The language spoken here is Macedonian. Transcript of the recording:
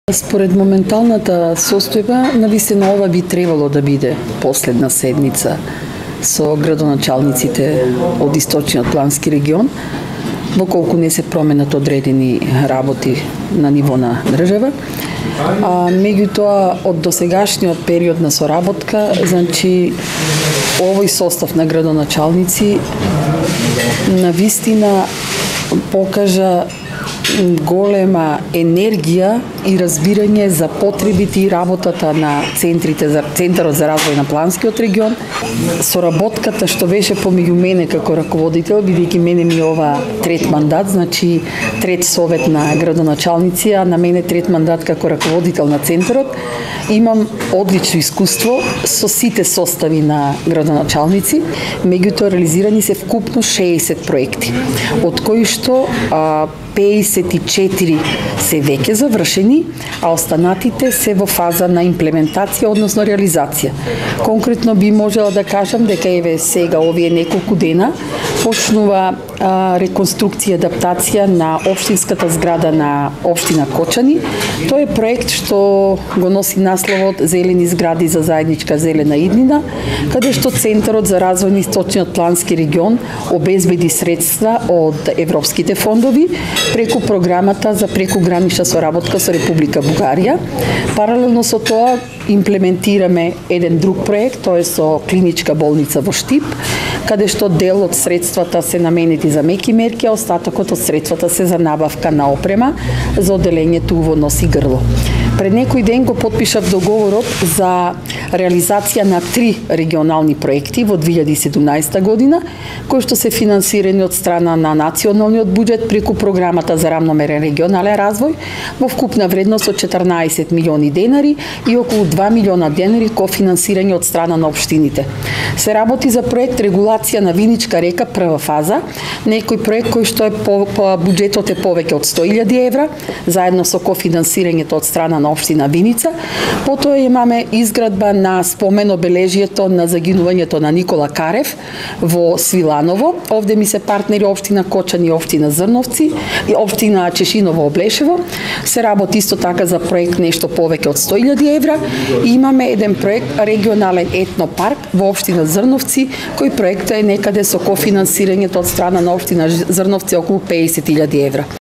Според моменталната состојба, навистина ова би требало да биде последна седница со градоначалниците од Источниот плански регион, доколку не се променат одредени работи на ниво на држава. Меѓутоа, од досегашниот период на соработка, значи, овој состав на градоначалници навистина покажа голема енергија и разбирање за потребите и работата на Центарот за развој на Планскиот регион. Соработката што беше помеѓу мене како раководител, бидејќи мене ми ова трет мандат, значи трет совет на градоначалници, а на мене трет мандат како раководител на Центарот, имам одлично искуство со сите состави на градоначалници, меѓутоа реализирани се вкупно 60 проекти, од кои што 54 се веќе завршени, а останатите се во фаза на имплементација, односно реализација. Конкретно би можела да кажам дека еве сега овие неколку дена почнува реконструкција и адаптација на општинската зграда на општина Кочани. Тоа е проект што го носи насловот Зелени згради за заедничка зелена иднина, каде што Центарот за развој на Источниот плански регион обезбеди средства од европските фондови преку програмата за прекугранична соработка со Република Бугарија. Паралелно со тоа имплементираме еден друг проект, тоа е со клиничка болница во Штип, каде што дел од средствата се наменети за меки мерки, а остатокот од средствата се за набавка на опрема за одделењето во нос и грло. Пред некој ден го потпишав договорот за реализација на 3 регионални проекти во 2017 година, кои што се финансирани од страна на националниот буџет преку програмата за рамномерен регионален развој во вкупна вредност од 14 милиони денари и околу 2 милиона денари кофинансирање од страна на општините. Се работи за проект регулација на Виничка река прва фаза, некој проект кој што е по буџетот е повеќе од 100.000 евра, заедно со кофинансирањето од страна на општина Виница. Потоа имаме изградба на спомен обележието на загинувањето на Никола Карев во Свиланово. Овде ми се партнери општина Кочани и општина Зрновци и општина Чешиново Облешево. Се работи исто така за проект нешто повеќе од 100.000 евра и имаме еден проект регионален етнопарк во општина Зрновци, кој проект е некаде со кофинансирањето од страна на општина Зрновци околу 50.000 евра.